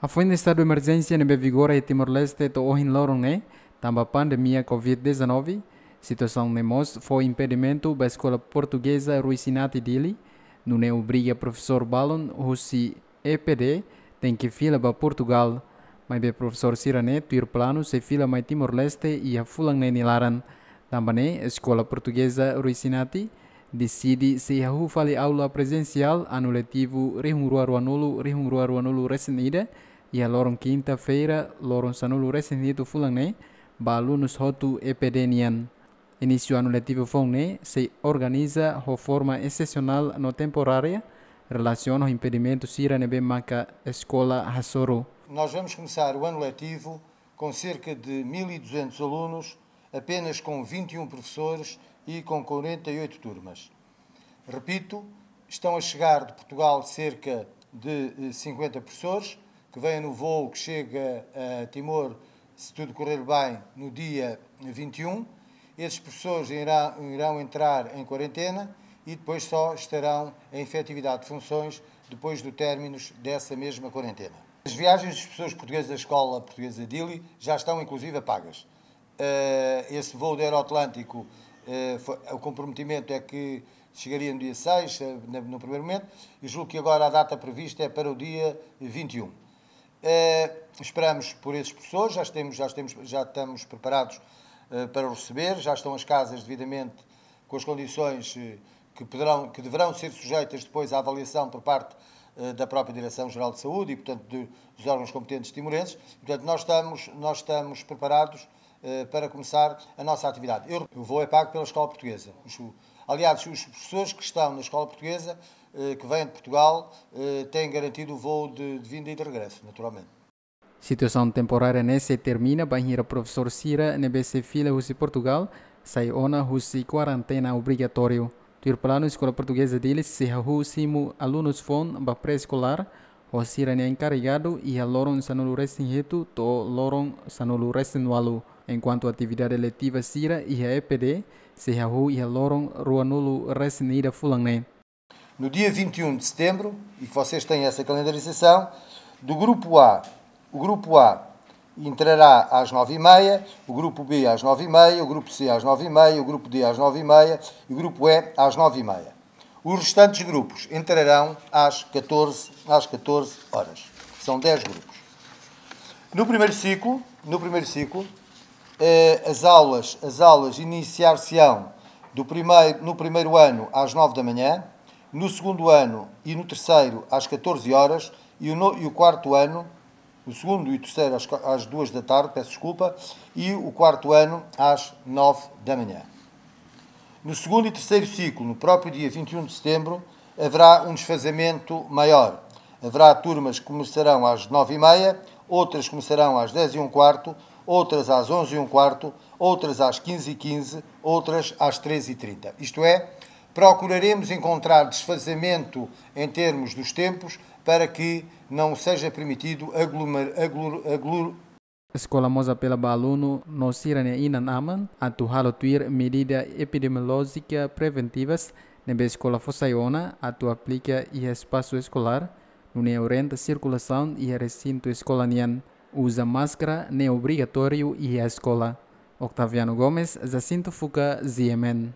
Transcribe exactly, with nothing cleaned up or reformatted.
Hafoin estadu emerjénsia ne'ebé vigora iha Timor-Leste to'o ohin loron ne'e, tanba pandemia covid dezanove, situasaun ne'e mós fó impedimentu ba Eskola Portugeza Ruisinati Dili, nune'e obriga profesór balun husi E P D tenke fila ba Portugal. Maibé profesór sira-ne'e tuir planu sei fila mai Timor-Leste iha fulan ne'e nia laran. Tanba ne'e, Eskola Portugeza Ruisinati deside sei hahú fali aula prezensiál anu letivu rihun rua ruanulu, rihun rua ruanulu resin ida, iha loron kinta-feira, loron sanulu resin hitu fulan ne'e, ba alunus hotu E P D nian. Inísiu anu letivu foun ne'e sei organiza ho forma exesionál no temporária, relasiona ho impedimentu sira ne'ebé maka eskola hasoru. Nós vamos começar o ano letivo com cerca de mil e duzentos alunos, apenas com vinte e um professores e com quarenta e oito turmas. Repito, estão a chegar de Portugal cerca de, eh, cinquenta professores, que vêm no voo que chega a Timor, se tudo correr bem, no dia vinte e um. Esses professores irá-, irão entrar em quarentena e depois só estarão em efetividade de funções depois do término dessa mesma quarentena. As viagens dos professores portugueses da Escola Portuguesa Dili já estão, inclusive, pagas. Eh, esse voo do Aeroatlântico, eh, foi, o comprometimento é que chegaria no dia seis, eh, na, no primeiro momento, e julgo que agora a data prevista é para o dia vinte e um. Eh, esperamos por esses professores, já temos, já temos, já estamos preparados, eh, para os receber, já estão as casas devidamente com as condições, eh, que poderão, que deverão ser sujeitas depois à avaliação por parte, eh, da própria Direção-Geral de Saúde e, portanto, de, dos órgãos competentes timorenses. Portanto, nós estamos, nós estamos preparados, eh, para começar a nossa atividade. Eu, o voo é pago pela Escola Portuguesa. Os, aliás, os professores que estão na Escola Portuguesa, eh, que vêm de Portugal, eh, têm garantido o voo de, de vinda e de regresso, naturalmente. Situasaun temporária ne'e sei termina bainhira profesór sira ne'ebé sei fila husi Portugal sai ona husi kuarentena obrigatóriu. Tuir planu, Eskola Portugeza Dili sei hahú simu alunus foun ba pré-eskolár ho sira-nia enkarregadu iha loron sanulu resin hitu to'o loron sanulu resin ualu. Enkuantu atividade letiva sira iha E P D sei hahú iha loron ruanulu resin ida fulan ne'e. No dia vinte e um de setembro, e que vocês têm essa calendarização, do grupo A, o grupo A entrará às nove e meia, o grupo B às nove e meia, o grupo C às nove e meia, o grupo D às nove e meia e o grupo E às nove e meia. Os restantes grupos entrarão às catorze, às catorze horas. São dez grupos. No primeiro ciclo, no primeiro ciclo, eh, as aulas, as aulas iniciar-se-ão do primeiro, no primeiro ano às nove da manhã, no segundo ano e no terceiro às catorze horas e o no-, e o quarto ano, o segundo e o terceiro às qua-, às duas da tarde, peço desculpa, e o quarto ano às nove da manhã. No segundo e terceiro ciclo, no próprio dia vinte e um de setembro, haverá um desfazamento maior. Haverá turmas que começarão às nove e meia, outras começarão às dez e um quarto, outras às onze e um quarto, outras às quinze e quinze, outras às treze e trinta. Isto é, procuraremos encontrar desfazamento em termos dos tempos para que não seja permitido aglomer-, aglur-, aglur-, Eskola mós apela ba alunu no sira-nia inan-aman atu halo tuir medida epidemiolójika preventivas ne'ebé eskola fó sai ona atu aplika iha espasu eskolár, nune'e orienta sirkulasaun iha resintu eskola nian. Uza máskara ne'e obrigatóriu iha eskola. Octaviano Gomes, Jacinto Fuca, G M N.